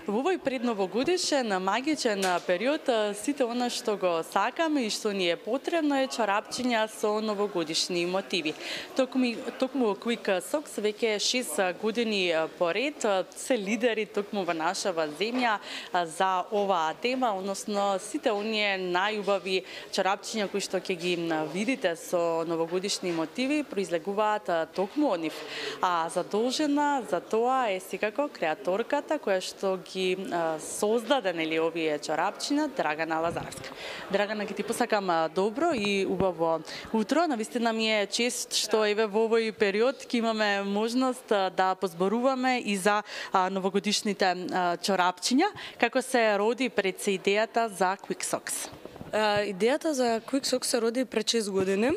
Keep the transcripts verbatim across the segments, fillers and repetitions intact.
Во овој предновогодишен магичен период сите она што го сакаме и што ни е потребно е чорапчиња со новогодишни мотиви. Токму токму Quick Socks веќе шест години поред се лидери токму во нашава земја за оваа тема, односно сите оние најубави чорапчиња кои што ќе ги видите со новогодишни мотиви произлегуваат токму од нив. А задолжена за тоа е секако креаторката која што ги создаде нели овие чорапчиња, Драгана Лазарска. Драгана, ќе ти посакам добро и убаво утро. Навистина ми е чест што еве во овој период ќе имаме можност да позборуваме и за новогодишните чорапчиња. Како се роди пред се идејата за Quick Socks? Идејата за Quick Socks се роди пред шест години.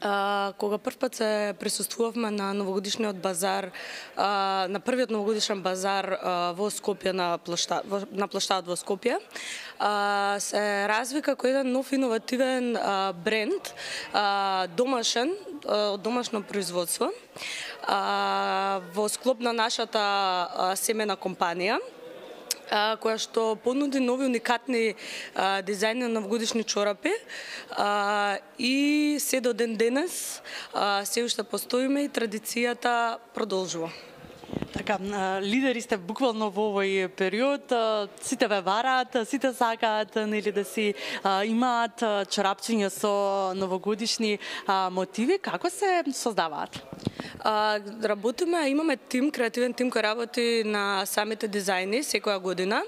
Uh, кога прв пат се присуствувавме на новогодишниот базар, uh, на првиот новогодишен базар uh, во Скопје на площад, на площадот во Скопје, uh, се развика кој еден нов иновативен uh, бренд, uh, домашен, од uh, домашно производство, uh, во склоп на нашата uh, семена компанија, која што понуди нови уникатни а, дизајни на новогодишни чорапи а, и се до ден денес а, се уште постоиме и традицијата продолжува. Така, лидери сте буквално во овој период, сите ве вараат, сите сакаат нели да си а, имаат чорапчиња со новогодишни а, мотиви. Како се создаваат? А, работиме, имаме тим, креативен тим кој работи на самите дизајни секоја година,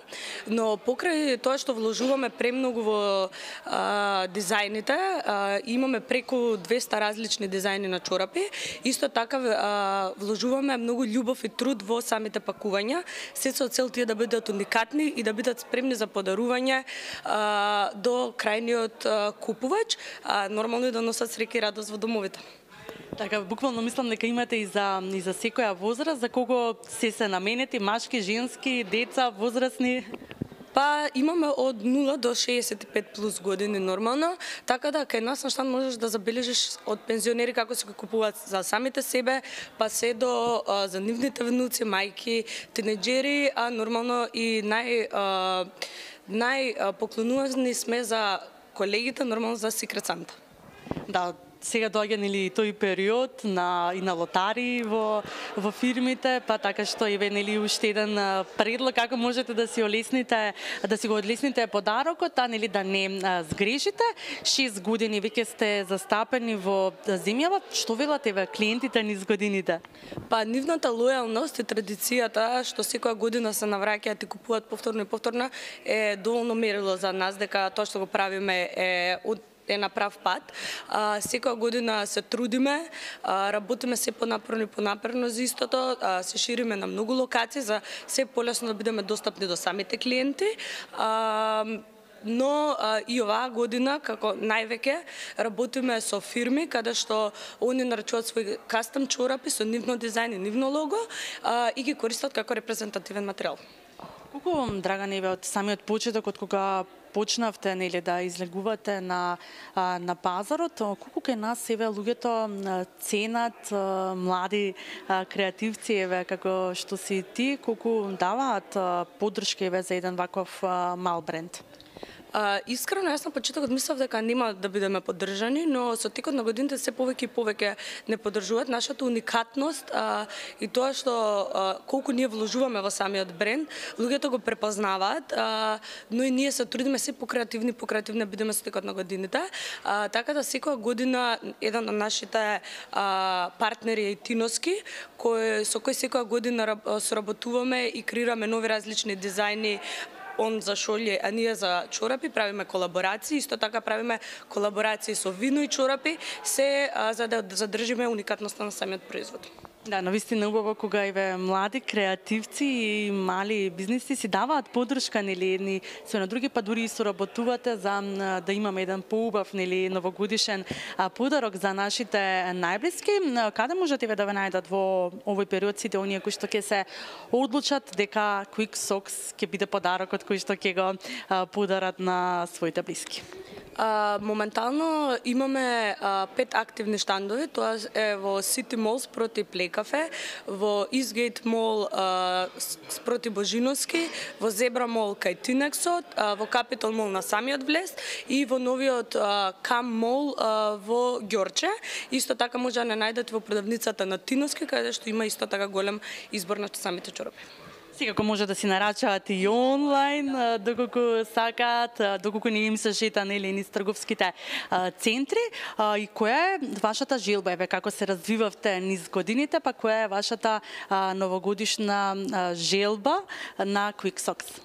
но покрај тоа што вложуваме премногу во а, дизајните, а, имаме преку двеста различни дизајни на чорапи, исто така а, вложуваме многу љубов и труд во самите пакувања, се со цел тие да бидат уникатни и да бидат спремни за подарување а, до крајниот а, купувач, а нормално и да носат среќа и радост во домовите. Така, буквално мислам дека имате и за и за секоја возраст, за кого се се наменети, машки, женски, деца, возрастни? Па имаме од нула до шеесет и пет плюс години нормално, така да кај нас на штанд можеш да забележиш од пензионери како се купуваат за самите себе, па се до а, за нивните внуци, мајки, тинеџери, а нормално и нај а, нај поклонувани сме за колегите, нормално за Secret Santa. Да, сега доаѓа нели тој период на и на лотари во во фирмите, па така што еве нели уште еден предлог како можете да си олесните, да си го одлесните подарокот, а нели да не сгрешите. шест години веќе сте застапени во земјава. Што велат еве клиентите низ годините? Па нивната лојалност и традицијата што секоја година се навраќаат и купуваат повторно и повторно е доволно мерило за нас дека тоа што го правиме е од е на прав пат. А, секоја година се трудиме, а, работиме се понапорно и понапорно за истото, а, се шириме на многу локации за се полесно да бидеме достапни до самите клиенти. А, но а, и оваа година, како највеќе, работиме со фирми каде што они наречуваат своји кастом чорапи со нивно дизајн и нивно лого а, и ги користат како репрезентативен материјал. Колку, Драгана, еве од самиот почеток, од кога почнавте нели да излегувате на на пазарот, колку кај нас еве луѓето ценат млади креативци еве како што си ти, колку даваат поддршка еве за еден ваков мал бренд? Uh, искрено, јас на почетокот мислев дека нема да бидеме поддржани, но со текот на годините се повеќе и повеќе не поддржуваат нашата уникатност uh, и тоа што uh, колку ние вложуваме во самиот бренд, луѓето го препознаваат, uh, но и ние се трудиме се покреативни, покреативни да бидеме со текот на годините. Uh, така да секоја година еден од нашите uh, партнери е Тиноски, кој со кој секоја година соработуваме и креираме нови различни дизајни. Он за шолје, а ние за чорапи правиме колаборации, исто така правиме колаборации со вино и чорапи, се а, за да задржиме уникатноста на самиот производ. Да, навистина убаво кога еве млади креативци и мали бизниси си даваат поддршка нели едни со на други, па дури и соработувате за да имаме еден поубав нели новогодишен подарок за нашите најблиски. Каде можат еве да ве најдат во овој период сите оние кои што ќе се одлучат дека Quick Socks ќе биде подарокот кој што ќе го подарат на своите блиски? А, моментално имаме а, пет активни штандови, тоа е во City Mall спроти Плекафе, во Eastgate Mall а, спроти Божиновски, во Zebra Mall кај Тинексот, а, во Capital Mall на самиот влез и во новиот а, Cam Mall а, во Ѓорче. Исто така може да не најдете во продавницата на Тиновски, каде што има исто така голем избор на самите чорапи. Секако може да си нарачаат и онлайн, доколку сакаат, доколку не им се шета нели низ трговските центри. И која е вашата желба, еве како се развивавте низ годините, па која е вашата новогодишна желба на Quick Socks?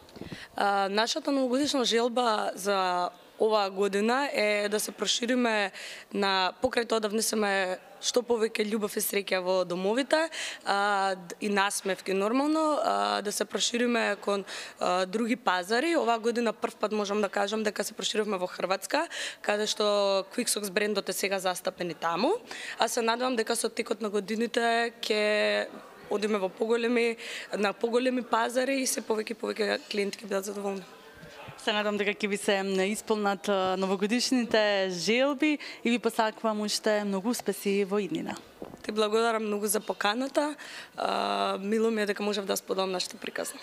Нашата новогодишна желба за оваа година е да се прошириме на покрај тоа да внесеме што повеќе љубов и среќа во домовите а, и насмевки нормално, а, да се прошириме кон а, други пазари. Оваа година прв пат можам да кажам дека се проширивме во Хрватска, каде што Quick Socks брендот е сега застапен и таму. А се надевам дека со текот на годините ќе одиме во поголеми на поголеми пазари и се повеќе повеќе клиенти ќе бидат задоволни. Се надам дека ќе ви се исполнат новогодишните желби и ви посакувам уште многу успеси во иднина. Ти благодарам многу за поканата. Мило ми е дека можев да споделам нашата приказна.